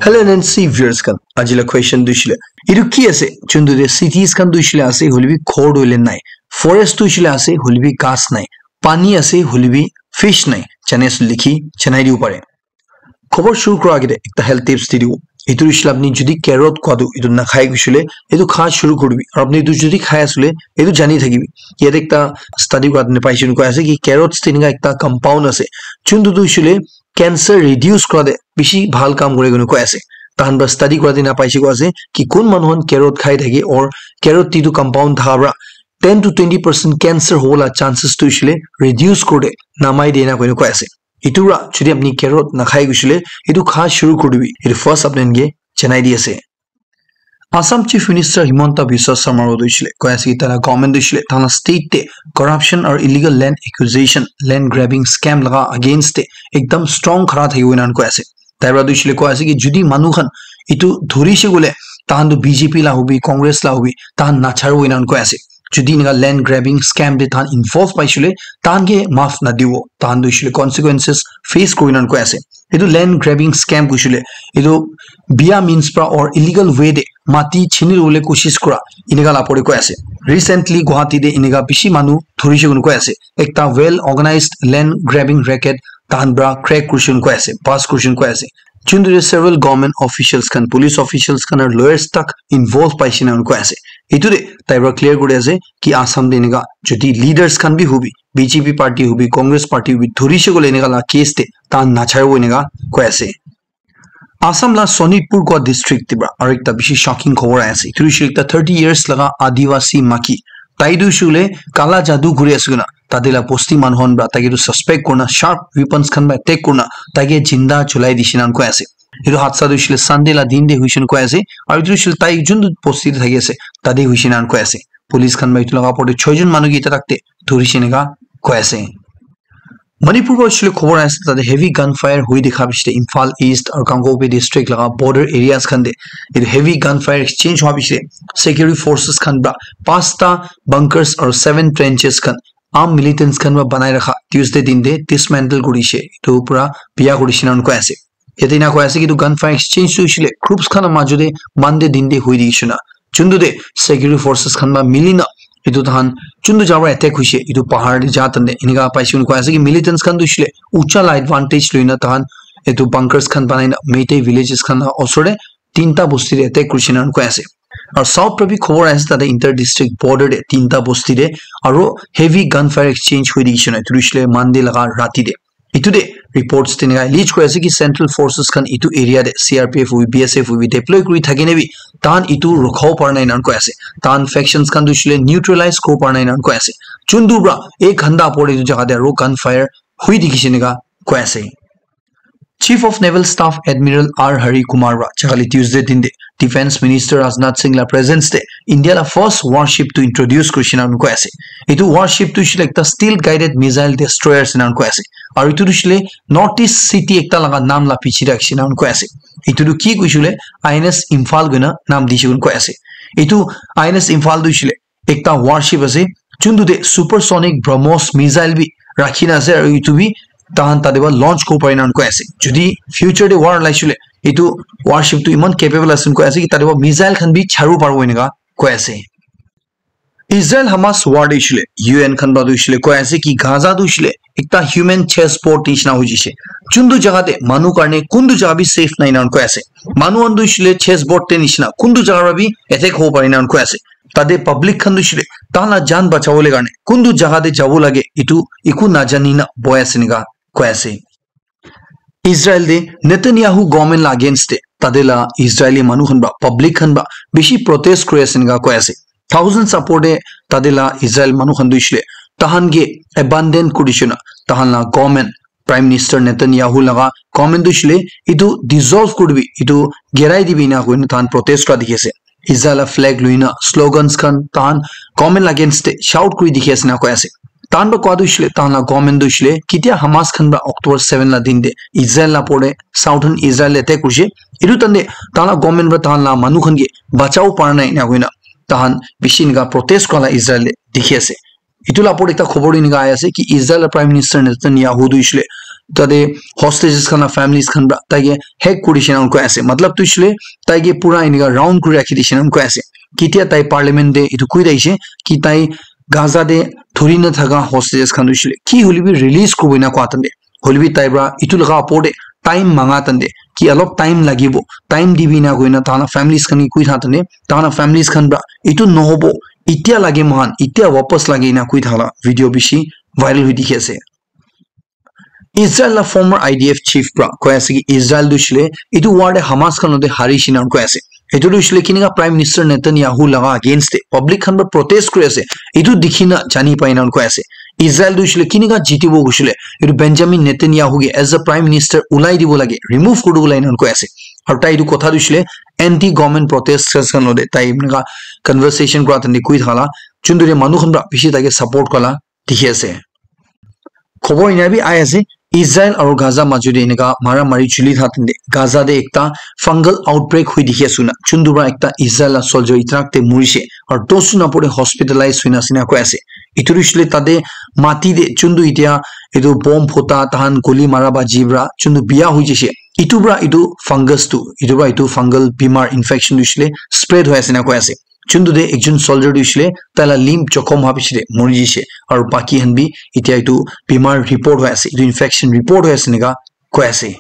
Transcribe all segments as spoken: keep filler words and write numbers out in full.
Hello N N C viewers khan, aji la question tu hoishe le, etu ki ase? Chundu te cities khan tu hoishe le ase, hoile bi ghor tu hoile nai. Forest tu hoishe le ase, hoile bi ghas nai. Pani ase, hoile bi fish nai. Jane ase likhi janai dibo pare. Khobor shuru kura agete ekta health tips di dibo. Etu hoishe le apni jodi carrot khwa tu etu nakhai hoishe le, etu kha shuru kuri dibi. Aru apni etu jodi khai ase le, etu jani thakibi. Yate ekta study kura dine paishe koi ase ki carrots te eneka ekta compound ase. Chundu tu hoishe le cancer reduce kura te bishi bhal kam kore koi ase. Tahan para study kura te na paishe koi ase ki kun manu khan carrot khai thake or carrot te etu compound thaka para ten to twenty percent cancer hobo la chances tu hoishe le reduce kore, namai de na koi ase. Etu para jodi apni carrot nakhai hoishe le, etu kha shuru kuri dibi. Etu first apni ke janai di ase. Assam Chief Minister Himanta Biswa Sarma tu hoishe le koi ase ki taila government tu hoishe le taila state te corruption or illegal land acquisition, land grabbing scam laga against te ekdam strong khara thakibo enan koi ase. Tai para tu hoishe le koi ase ki jodi manu khan etu dhurishe koi le, tahan tu B J P la hobi, Congress la hobi, tahan nacharibo enan koi ase. Jodi eneka land grabbing scam te tahan involve paishe le, tahan ke maaf nadibo, tahan tu hoishe le consequences face kori enan koi ase. Etu land grabbing scam koishe le, etu biya means pra or illegal way de mati chini lobole koshish kura, eneka la pore koi ase. Recently Guwahati de eneka bishi manu dhurishe koi ase. Ekta well organized land grabbing racket tahan pra crack korishe koi ase, bust korishe koi ase. Chundu de several government officials khan, police officials khan aru lawyers tak involve paishe na koi ase. Etu de tai pra clear kuri ase ki Assam de eneka jodi leaders khan bi hobi, B J P party hobi, Congress party hobi, dhurishe koi le eneka la case te tahan nacharibo eneka koi ase. Assam la Sonitpur koi district te pra aru ekta bishi shocking khobor ahi ase. Etu hoishe ekta thirty years laga Adivasi maki. Tai tu hoishe koi le kala jadu kuri ase koina tate la bosti manu khan pra tai ke tu suspect kurina sharp weapons khan pra attack kurina tai ke jinda julai dishe enan koi ase. Etu hadsa tu hoishe le Sunday la din te hoishe enan koi ase. Aru etu hoishe le tai juntu bosti te thaki ase, tate hoishe enan koi ase. Police khan pra etu laga opor te choi jon manu ke eta tak te dhurishe eneka koi ase. Manipur pra hoishe le khobor ahi ase, tate heavy gunfire hui dikha bishi de Imphal East aru Kangpokpi district laga border areas khan de etu heavy gunfire exchange hua bishi de security forces khan pra pasta bunkers aru seven trenches khan armed militants khan pra banai rakha Tuesday din de dismantle kurishe, etu pura biya kurishe enan koi ase. Yate ena koi ase ki etu gunfire exchange tu hoishe le groups khan la majo de Monday din de hui dikhi shina. Chundu de security forces khan pra mili na etu tahan chundu jaga pra attack hoishe, etu pahar de ja tande eneka paishe koi ase ki militants khan tu hoishe le ucha la advantage loi na tahan etu bunkers khan banai na Meitei villages khan la osor de tinta bosti de attack kurishe enan koi ase. Aru south pra bi khobor ahi ase tate inter district border de tinta bosti de aru heavy gunfire exchange hui dikhi shina, etu hoishe le Monday laga rati de. Etu de reports te eneka allege kuri ase ki central forces khan etu area de C R P F hobi, B S F hobi deploy kuri thaki na bi tahan etu rukha bo para nai enan koi ase. Tahan factions khan tu hoishe le neutralize kuri bo para nai enan koi ase. Chundu pra ek ghanta opor de etu jaga de aru gunfire hui dikhishe eneka koi ase. Chief of Naval Staff Admiral R Hari Kumar pra jakali Tuesday din de Defence Minister Rajnath Singh la presence de India la first warship tu introduce kurishe enan koi ase. Etu warship tu hoishe le ekta stealth guided missile destroyer ase enan koi ase. Aru etu tu hoishe le North East city ekta laga naam la piche de rakhishe enan koi ase. Etu tu ki koishe le I N S Imphal koina naam dishe enan koi ase. Etu I N S Imphal tu hoishe le ekta warship ase, juntu de supersonic BrahMos missile bi rakhi na ase, aru etu bi tahan tate pra launch kuri bo pare enan koi ase. Jodi future de war olaishe le, etu warship tu eman capable ase enan koi ase ki tate pra missile khan bi chari bo paribo eneka koi ase. Israel Hamas war de hoishe le, U N khan pra tu hoishe le koi ase ki Gaza tu hoishe le ekta human chessboard nishina hoi jaise. Juntu jaga de manu karne kuntu jaga bi safe nai enan koi ase. Manu khan tu hoishe le chessboard te nishina kuntu jaga pra bi attack hobo pare enan koi ase. Tate public khan tu hoishe le tahan la jaan bachabo le karne kuntu jaga te jabo lage etu eku najani na bohi ase eneka koi ase. Israel de Netanyahu government la against de tate la Israeli manu khan pra public khan pra bishi protest kuri ase eneka koi ase. Thousands support de tate la Israel manu khan tu hoishe le tahan ke abandon kuri dishe na tahan la government Prime Minister Netanyahu laga government tu hoishe le etu dissolve kuri dibi, etu girai dibi ena koi na tahan protest kura dikhi ase. Israel la flag loi na slogans khan tahan government la against de shout kuri dikhi ase ena koi ase. Tahan pra koa tu hoishe le tahan la government tu hoishe le ketia Hamas khan pra October seven la din de Israel la opor de southern Israel de attack kurishe, etu time de tahan la government pra tahan la manu khan ke bachabo para nai ena koi na tahan bishi eneka protest kura la Israel de dikhi ase. Etu la opor de ekta khobor eneka ahi ase ki Israel la Prime Minister Netanyahu tu hoishe le tate hostages khan la families khan pra tai ke hack kuri dishe na koi ase. Matlab tu shile tai ke pura enika round kuri rakhi dishe na koi ase. Kitia tai parliament te etu koi daishe ki tai Gaza te thuri na thaka hostages khan tu shile ki huli bi release kuribo ena koa tante. Huli bi tai pra etu laga opor te time manga tante ki alop time lagibo, time dibi na koina tana families khan ki koi tha tante, tana families khan pra etu nohobo, itia lage mohan, itia wapas lage ena koi thala video bishi viral hoi dikhi ase. Israel la former I D F chief pra koi ase ki Israel tu shile etu war te Hamas khan lote hari shina koi ase. Etu tu shile kinika Prime Minister Netanyahu laga against te public khan pra protest kuri ase. Etu dikhi na jani pai na koi ase. Israel tu shile kinika jitibo kushile etu Benjamin Netanyahu ke as a Prime Minister ulai dibo lage, remove kuri dibo lage na koi ase. Aru tai etu kotha tu shile anti government protesters khan lote tai enika conversation kura tante koi thala. Chunduri manu khan pra bishi tai ke support kala dikhi ase. Khobor ena bi ai ase, Israel aru Gaza majo te enika mara mari chuli tha tante Gaza te ekta fungal outbreak hui dikhi ase na. Chundu pra ekta Israel la soldier itrak te murishe aru dosun apore hospitalize huina ase na koi ase. Itu rishile tate mati te chundu itia itu bomb phota tahan guli mara ba jibra chundu biya hui jishe. Itu pra itu fungus tu, itu pra itu fungal bimar infection tu shile spread hoi ase na koi ase. Chuntu te ekjon soldier tu hoishe le tai la limb jokhom howa piche te mori jishe aru baki khan bi itya etu bimar report hoi ase, etu infection report hoi ase enika koi ase.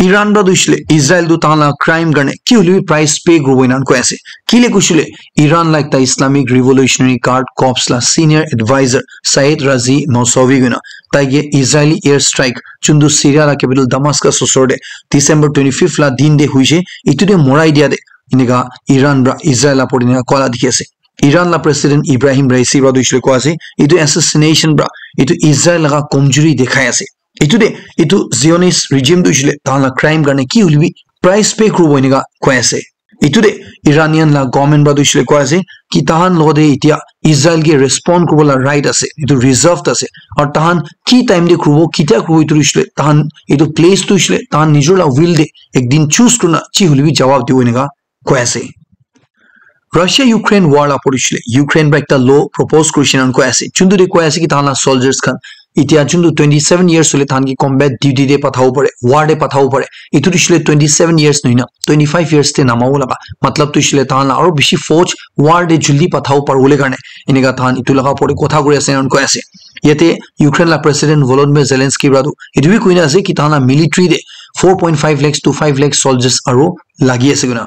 Iran pra tu hoishe le Israel tu tahan la crime karne ki hoile bi price pay kuribo enan koi ase. Kile koishe le Iran la ekta Islamic Revolutionary Guard Corps la senior advisor Saeed Razi Mousavi koina tai ke Israeli air strike chuntu Syria la capital Damascus osor te December twenty fifth la din te hoishe, etu te morai dia te enika Iran pra Israel la pori enika koa la dikhi ase. Iran la president Ibrahim Raisi pra tu hoishe le koa ase, etu assassination pra etu Israel laga komjuri dekhai ase. Etu te etu Zionist regime tu hoishe le tahan la crime karne ki hoile bi price pay kuribo enika koi ase. Etu te Iranian la government pra tu hoishe le koa ase ki tahan logote etia Israel ke respond kuribo la right ase, etu reserved ase. Aru tahan ki time te kuribo, kitia kuribo etu hoishe le tahan etu place tu hoishe le tahan nijor la will te ekdin choose kurina chi hoile bi jawab dibo enika koi ase. Russia Ukraine war la pori shile Ukraine pra ekta law propose kurishe nan koi ase. Chuntu de koi ase ki tahan la soldiers khan itia chuntu twenty seven years hole tahan ki combat duty de pathabo pare, war de pathabo pare. Itu tu shile twenty seven years nohina, twenty five years te namabo laga. Matlab tu shile tahan la aro bishi fauj war de juldi pathabo pare hole karne. Eneka tahan itu laga pore kotha kuri ase nan koi ase. Yate Ukraine la President Volodymyr Zelensky pra tu itu bi koina ase ki tahan la military de four point five lakhs to five lakhs soldiers aro lagi ase koina.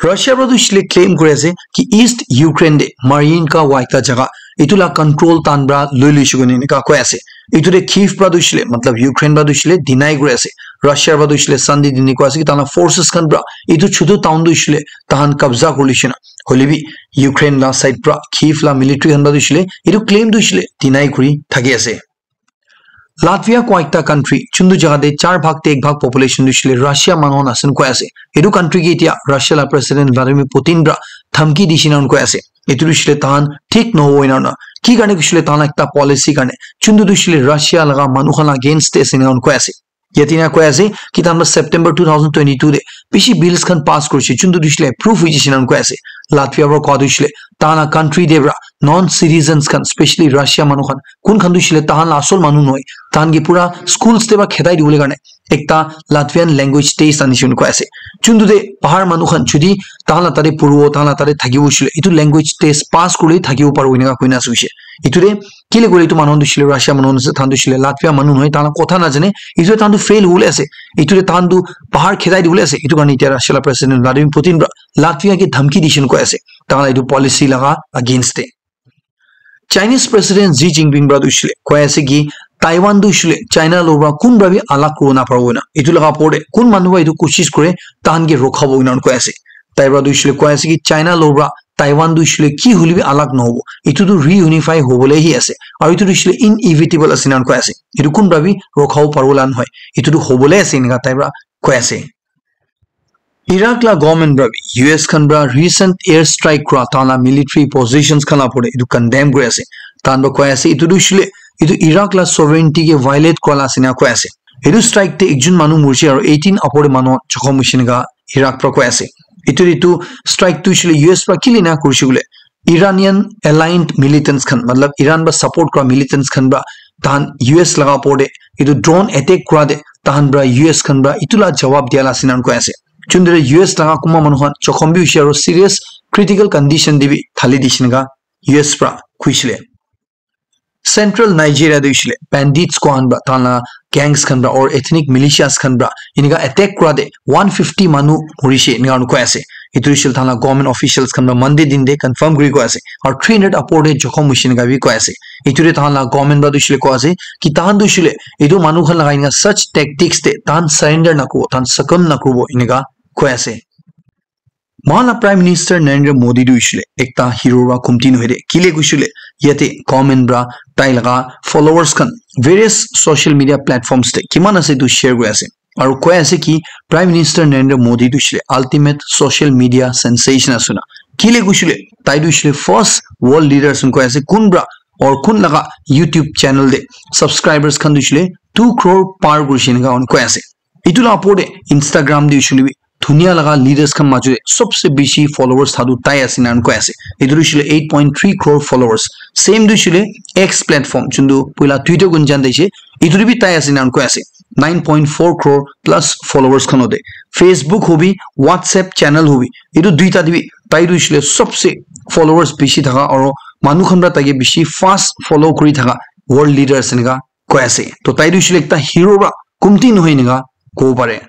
Russia pra tu shile claim kuri ase ki East Ukraine de Mariinka wa ekta jaga itu la control tan pra loi loishe koina enika koi ase. Itu de Kyiv pra tu shile, matlab Ukraine pra tu shile deny kuri ase. Russia pra tu shile Sunday dini koi ase ki tahan la forces khan pra itu chutu town tu shile tahan kabza kuri loishe na. Hoile bi Ukraine la side pra Kyiv la military khan pra tu shile itu claim tu shile deny kuri thaki ase. Latvia koi ekta country, chuntu jaga de char bhag te ek bhag population tu shile Russia manu khan ase koi ase. Etu country ke itia Russia la President Vladimir Putin pra dhamki dishe nan koi ase. Etu tu shile tahan thik nohobo ena na. Ki karne kushile tahan la ekta policy karne. Chuntu tu shile Russia laga manu khan la against te ase nan koi ase. Yate na koi ase ki tahan pra September two thousand twenty-two de bishi bills khan pass kurishe, chuntu tu shile approve hoi jishe nan koi ase. Latvia pra koi tu shile tahan la country de pra non citizens khan, specially Russia manu khan, kun khan tu shile tahan la asol manu nohoi, tahan ke pura schools te pra khedai dibole karne ekta Latvian language test anishe koi ase. Chuntu de bahar manu khan judi tahan la tate puribo, tahan la tate thakibo shile, itu language test pass kurle thakibo paribo enika koina ase hoishe. Itu de kile koile itu manu khan tu shile Russia manu khan ase, tahan tu shile Latvia manu nohoi, tahan la kotha najane, itu de tahan tu fail hole ase. Itu de tahan tu bahar khedai dibole ase. Itu karne itia Russia la President Vladimir Putin pra Latvia ke dhamki dishe koi ase. Tahan la itu policy laga against te. Chinese President Xi Jinping pra tu shile koi ase ki Taiwan tu shile China lo pra kun pra bi alag kuribo na paribo na. Itu laga opor te kun manu pra itu koshish kure tahan ke rokhabo ena koi ase. Tai pra tu shile koi ase ki China lo pra Taiwan tu shile ki hole bi alag nohobo. Itu tu reunify hobole hi ase. Aru itu tu shile inevitable ase ena koi ase. Itu kun pra bi rokhabo paribo la nohoi. Itu tu hobole ase enika tai pra koi ase. Iraq la government pra bi U S khan pra recent air strike kura tahan la military positions khan la opor te itu condemn kuri ase. Tahan pra koi ase itu tu shile itu Iraq la sovereignty ke violate kura la ase ena koi ase. Itu strike te ekjon manu murishe aru eighteen opor te manu jokhom hoishe enika Iraq pra koi ase. Itu itu strike tu shile U S pra kile ena kurishe koile Iranian aligned militants khan, matlab Iran pra support kura militants khan pra tahan U S laga opor te etu drone attack kura te tahan pra U S khan pra etu la jawab dia la ase enakurna koi ase. Chundere U S laga kunba manu khan jokhom bi hoishe aro serious critical condition te bi thali dishe enakurna U S pra kuishile. Central Nigeria te hoishile bandits khan pra, tahan la gangs khan pra or ethnic militias khan pra enika attack kura te one fifty manu morishe enakurna koi ase. Etu hoishile tahan la government officials khan pra Monday din te confirm kuri koi ase. Aro three hundred opor te jokhom hoishe enakurna bi koi ase. Etu te tahan la government pra tu hoishile koi ase ki tahan tu hoishile etu manu khan lagai enakurna such tactics te tahan surrender nakuribo, tahan succumb nakuribo enakurna koi ase. Mohan la Prime Minister Narendra Modi tu hoishile ekta hero pra kumti nohoi de. Kile koishile yate government pra tai laga followers khan various social media platforms te kiman ase etu share kuri ase. Aro koi ase ki Prime Minister Narendra Modi tu hoishile ultimate social media sensation ase na. Kile koishile tai tu hoishile first world leaders koi ase kun pra or kun laga YouTube channel te subscribers khan tu hoishile two crore par kurishe enakurna koi ase. Etu la opor te Instagram te hoishile bi dunia laga leaders khan majo te sobse bishi followers thaka tu tai ase enakurna koi ase. Etu tu hoishile eight point three crore followers. Same tu hoishile X platform, juntu puila Twitter koi jana ase, etu te bi tai ase enakurna koi ase. Nine point four crore plus followers khan hote. Facebook hobi, WhatsApp channel hobi, etu duita te bi tai tu hoishile sobse followers bishi thaka aro manu khan pra taike bishi fast follow kuri thaka world leader ase enakurna koi ase. To tai tu hoishile ekta hero pra kumti nohoi enakurna kobo pare.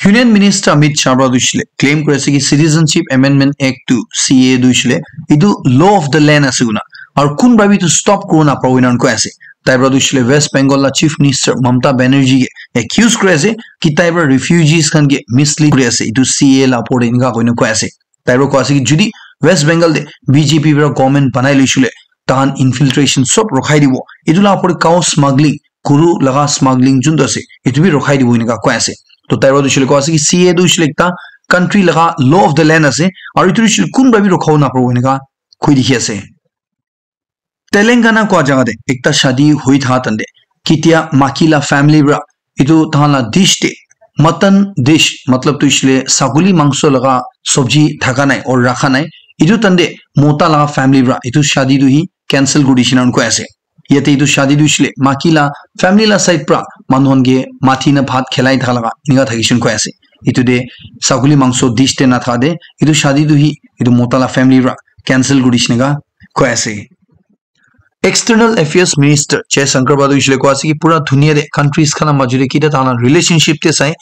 Union Minister Amit Shah pra tu hoishile claim kuri ase ki Citizenship Amendment Act tu C A A tu hoishile etu law of the land ase koina. Aro kun pra bi etu stop kuribo naparibo enakurna koi ase. Tai pra tu hoishile West Bengal la Chief Minister Mamata Banerjee ke accuse kuri ase ki tai pra refugees khan ke mislead kuri ase etu C A A la opor te enakurna koina koi ase. Tai pra koi ase ki jodi West Bengal te B J P pra government banai loishile tahan infiltration sob rokhai dibo. Etu la opor te cow smuggling, guru laga smuggling juntu ase, etu bi rokhai dibo enakurna koi ase. To tai pra tu hoishile koi ase ki C A A tu hoishile ekta country laga law of the land ase, aro etu hoishile kun pra bi rokhabo naparibo enakurna koi dikhi ase. Telangana koi jaga te ekta shadi hoi thaka time te kitia maki la family pra etu tahan la dish te mutton dish, matlab tu hoishile saguli mangso laga sabji thaka nai or rakha nai, etu time te mota laga family pra etu shadi tu hi cancel kuri dishe enakurna koi ase. Yate etu shadi tu hoishile maki la family la side pra manu khan ke mathi na bhat khilai thaka laga enakurna thakishe enakurna koi ase. Etu te saguli mangso dish te nathaka te etu shadi tu hi etu mota la family pra cancel kuri dishe enakurna koi ase. External Affairs Minister Jaishankar pra tu hoishile koi ase ki pura dunia te countries khan la majo te kita tahan la relationship te sai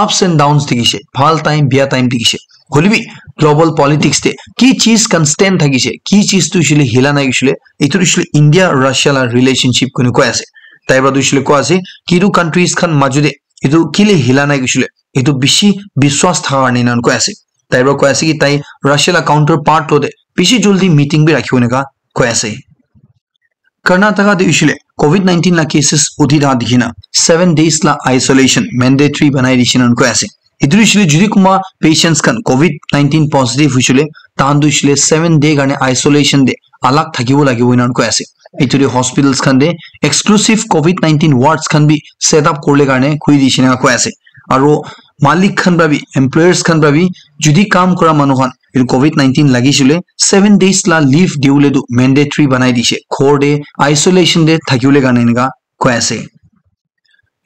ups and downs dikhishe, bhal time, bia time dikhishe. Hoilebi global politics te ki cheez constant thakishe, ki cheez tu hoishile hila nai hoishile, etu tu hoishile India Russia la relationship koina koi ase. Tai pra tu hoishile koi ase ki etu countries khan majo te etu kile hila nai hoishile, etu bishi biswas thaka karne enakurna koi ase. Tai pra koi ase ki tai Russia la counterpart to te bishi jaldi meeting bi rakhibo enakurna koi ase. Karnataka te hoishile covid nineteen la cases uthi thaka dikhina seven days la isolation mandatory banai dishe enakurna koi ase. Etu hoishile jodi kunba patients khan covid nineteen positive hoishile tahan tu hoishile seven day karne isolation te alag thakibo lagibo enakurna koi ase. Etu te hospitals khan te exclusive covid nineteen wards khan bi set up kuribole karne koi dishe enakurna koi ase. Aro malik khan pra bi, employers khan pra bi, jodi kam kura manu khan etu covid nineteen lagishile seven days la leave dibole tu mandatory banai dishe. Ghor te isolation te thakibole karne enakurna koi ase.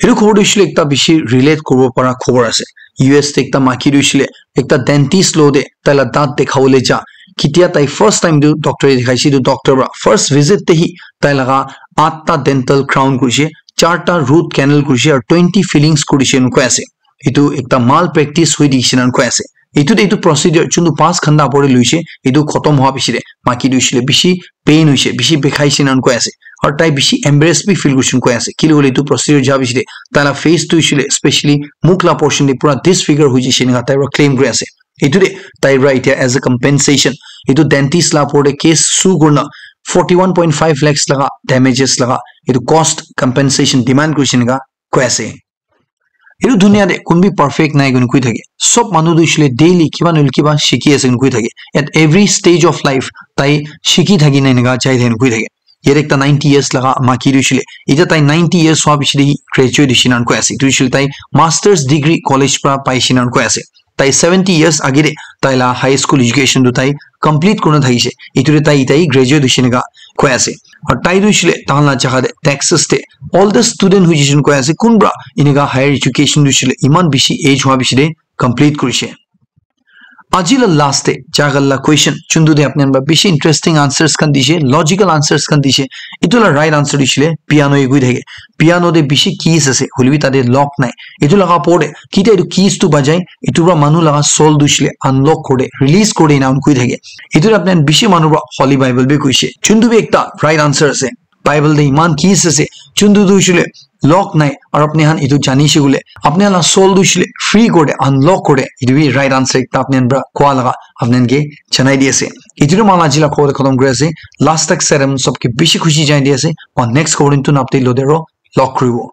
Etu khobor tu hoishile ekta bishi relate kuribo para khobor ase. U S te ekta maiki tu hoishile ekta dentist lo te tai la daat dekhabole ja. Ketia tai first time tu doctor te dikhaise, tu doctor para first visit te hi tai laga atta dental crown kurishe, charta root canal kurishe aru twenty fillings kurishe ena koi ase. Etu ekta mal practice hoi dikhishe ena koi ase. Etu te etu procedure chuntu paanch ghanta upor te luishe, etu khotom hoa piche te maiki tu hoishile bishi pain hoishe, bishi bikhaishe ena koi ase. Aru tai bishi embarrass bi feel kurishe ena koi ase. Kile hoile etu procedure ja piche te tai la face tu hoishile, especially mukh la portion te pura disfigure hoi jaishe ena tai para claim kuri ase. Etu te tai para etia as a compensation etu dentist la upor te case sue kurina forty one point five lakhs laga damages laga etu cost compensation demand kurishe ena koi ase. Etu dunia te kun bi perfect nai koina koi thake. Sob manu tu hoishile daily kiba nohoile kiba shikhi ase koina koi thake. At every stage of life, tai shikhi thaki na eneka jai thaki na koi thake. Yate ekta ninety years laga maiki tu hoishile, etia tai ninety years hoa piche te hi graduate hoishe ena koi ase. Etu hoishile tai master's degree college para paishe ena koi ase. Tai seventy years age te tai la high school education tu tai complete kurina thakishe. Etu te tai, tai graduate hoishe eneka koi ase. Aru tai tu hoishile tahan la jaga te Texas te oldest student hoishe koina koi ase, kunba enika higher education tu hoishile iman bishi age hua bishi te complete kurishe. Aji la last te jagal la question chuntu te apni khan para bishi interesting answers khan dishe, logical answers khan dishe. Etu la right answer tu hoishile piano e koi thake. Piano te bishi keys ase, hoilebi tate lock nai. Etu laga opor te kitia etu keys tu bajai, etu para manu laga soul tu hoishile unlock kore, release kore ena koi thake. Etu para apni khan bishi manu para Holy Bible bi koishe. Chuntu bi ekta right answer ase. Bible te iman keys ase. Chuntu tu hoishile lock nai. Aru apni khan etu janishe koile, apni khan la soul tu hoishile free kore, unlock kore. Etu bi right answer ekta apni khan para koa laga apni khan ke janai di ase. Etu tu mala jila koa khatam kuri ase. Last tak saram sabke bishi khushi janai di ase. Aru next khobor tu napte lo dero lock kuribo.